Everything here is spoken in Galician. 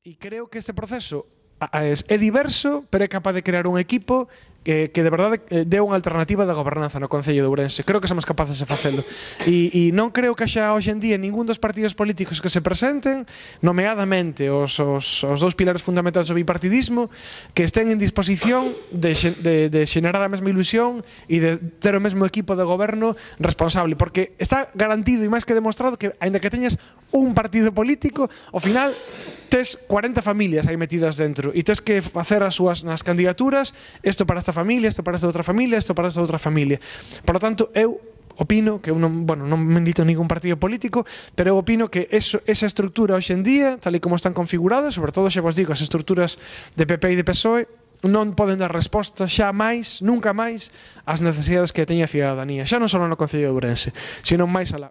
E creo que este proceso é diverso, pero é capaz de crear un equipo que de verdade dé unha alternativa de gobernanza no Concello de Ourense. Creo que somos capaces de facelo. E non creo que xa hoxe en día ningún dos partidos políticos que se presenten, nomeadamente os dous pilares fundamentais do bipartidismo, que estén en disposición de xenerar a mesma ilusión e de ter o mesmo equipo de goberno responsable. Porque está garantido e máis que demostrado que, aínda que teñas un partido político, ao final tes 40 familias aí metidas dentro e tes que facer as súas nas candidaturas, isto para esta familia, isto para esta outra familia, isto para esta outra familia. Por lo tanto, eu opino que eu non milito en ningún partido político, pero eu opino que esa estructura hoxe en día, tal e como están configuradas, sobre todo xa vos digo, as estruturas de PP e de PSOE, non poden dar resposta xa máis, nunca máis, ás necesidades que teña a cidadanía, xa non só no Concello de Ourense, sino máis alá.